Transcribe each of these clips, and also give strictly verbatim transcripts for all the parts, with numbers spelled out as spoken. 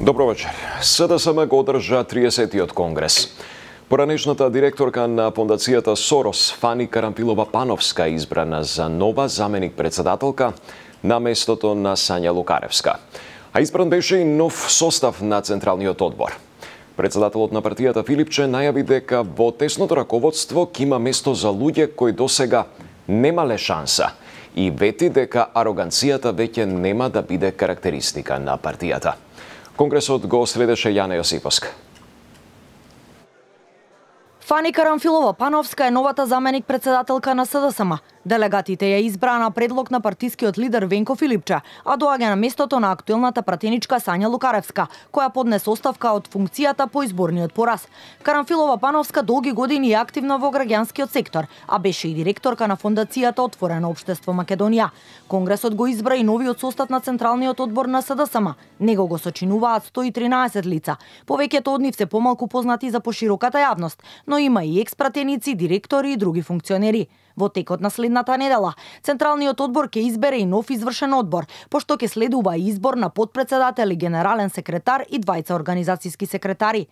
Добро вечер. СДСМ го одржа триесеттиот конгрес. Поранешната директорка на фондацијата Сорос, Фани Карамфилова-Пановска, избрана за нова заменик-председателка на местото на Сања Лукаревска. А избран беше и нов состав на Централниот одбор. Председателот на партијата Филипче најави дека во тесното раководство ќе има место за луѓе кои досега немале шанса и вети дека ароганцијата веќе нема да биде карактеристика на партијата. Конгресот го следеше Јана Јосиповска. Фани Карамфилова-Пановска е новата заменик-председателка на СДСМ. Делегатите ја избраа на предлог на партискиот лидер Венко Филипче, а доаѓа на местото на актуелната пратеничка Сања Лукаревска, која поднесе оставка од функцијата по изборниот пораз. Карамфилова-Пановска долги години е активна во граѓанскиот сектор, а беше и директорка на фондацијата Отворено општество Македонија. Конгресот го избра и новиот состав на Централниот одбор на СДСМ. Него го сочинуваат сто и тринаесет лица. Повеќето од нив се помалку познати за пошироката јавност, но има и експратеници, директори и други функционери. Во текот на следната недела, Централниот одбор ќе избере и нов извршен одбор, пошто ќе следува и избор на подпредседател и генерален секретар и двајца организацијски секретари.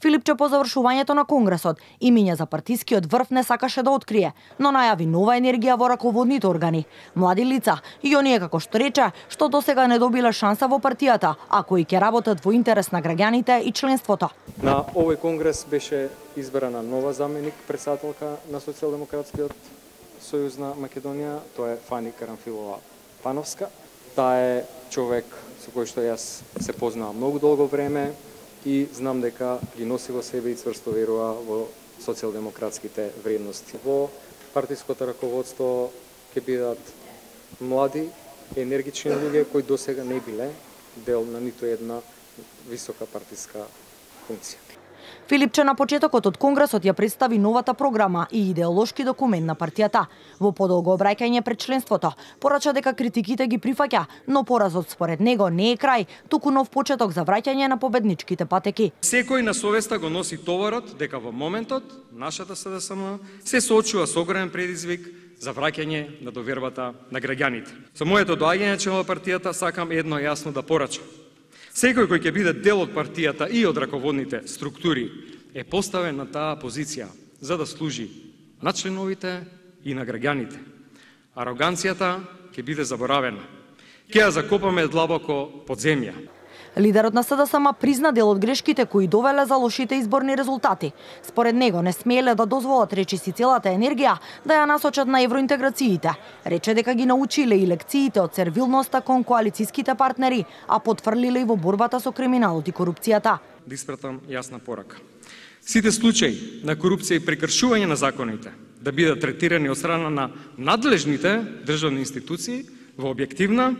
Филипче по завршувањето на конгресот имиња за партискиот врв не сакаше да открие, но најави нова енергија во раководните органи. Млади лица и оние, како што рече, што досега не добиле шанса во партијата, а кои ќе работат во интерес на граѓаните и членството. На овој конгрес беше избрана нова заменик председателка на Социјалдемократскиот Сојуз на Македонија, тоа е Фани Карамфилова-Пановска. Таа е човек со кој што јас се познавам многу долго време и знам дека ги носи во себе и цврсто верува во социјалдемократските вредности. Во партиското раководство ќе бидат млади, енергични луѓе кои досега не биле дел на ниту една висока партиска функција. Филипче на почетокот од конгресот ја представи новата програма и идеолошки документ на партијата. Во подолго обраќање пред членството, порача дека критиките ги прифаќа, но поразот според него не е крај, туку нов почеток за враќање на победничките патеки. Секој на совеста го носи товарот дека во моментот нашата СДСМ се соочува со огромен предизвик за враќање на довербата на граѓаните. Со моето доаѓање член во партијата сакам едно јасно да порачам. Секој кој ќе биде дел од партијата и од раководните структури е поставен на таа позиција за да служи на членовите и на граѓаните. Ароганцијата ќе биде заборавена. Ќе ја закопаме длабоко под земја. Лидерот на СДСМ призна дел од грешките кои довеле за лошите изборни резултати. Според него не смееле да дозволат речиси целата енергија да ја насочат на евроинтеграциите. Рече дека ги научиле и лекциите од сервилноста кон коалицијските партнери, а потврлиле и во борбата со криминалот и корупцијата. Да испратам јасна порака. Сите случаи на корупција и прекршување на законите да бидат третирани од страна на надлежните државни институции во објективна,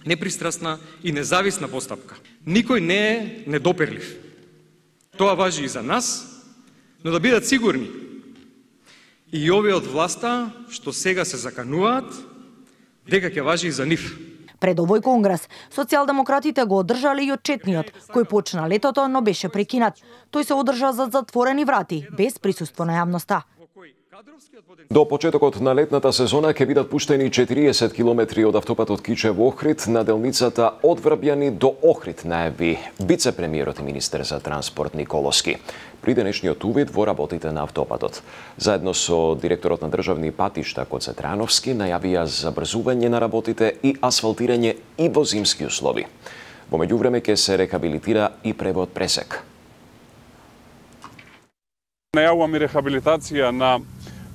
непристрасна и независна постапка. Никој не е недопирлив. Тоа важи и за нас, но да бидат сигурни и овие од власта што сега се закануваат дека ќе важи и за нив. Пред овој конгрес, социјалдемократите го одржале и отчетниот, кој почна летото, но беше прекинат. Тој се одржа за затворени врати, без присуство на јавноста. До почетокот на летната сезона ќе бидат пуштени четириесет километри од автопатот Кичево-Охрид на делницата од Врбјани до Охрид, најави вице-премиерот и министер за транспорт Николовски при денешниот увид во работите на автопатот. Заедно со директорот на државни патишта Коце Трановски најавија забрзување на работите и асфалтирање и во зимски услови. Во меѓувреме ќе се рехабилитира и превод Пресек. Најавувам и рехабилитација на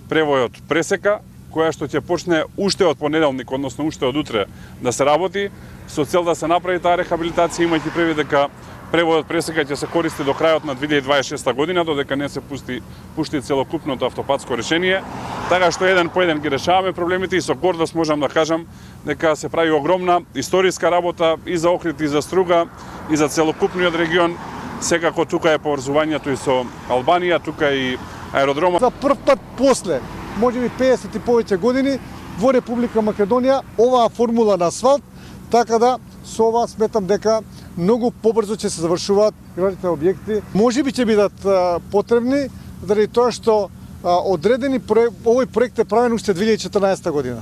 превојот Пресека, која што ќе почне уште од понеделник, односно уште од утре да се работи, со цел да се направи таа рехабилитација, имајќи предвид дека превојот Пресека ќе се користи до крајот на две илјади дваесет и шеста година, додека не се пусти пушти целокупното автопатско решение. Така што еден по еден ги решаваме проблемите и со гордост можам да кажам дека се прави огромна историска работа и за Охрид, и за Струга, и за целокупниот регион. Секако тука е поврзувањето и со Албанија, тука и аеродромот. За прв пат после, можеби песет и повеќе години, во Република Македонија оваа формула на асфалт, така да со ова сметам дека многу побрзо ќе се завршуваат градите објекти. Можеби ќе бидат а, потребни, заради тоа што а, одредени проект, овој проект е правен уште две илјади и четрнаесета година.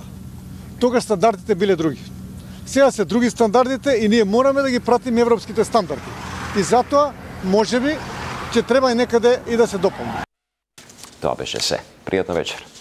Тогаш стандардите биле други. Сега се други стандардите и ние мораме да ги пратиме европските стандарди. и затоа можеби ќе треба и некаде и да се дополни. Тоа беше се. Пријатна вечер.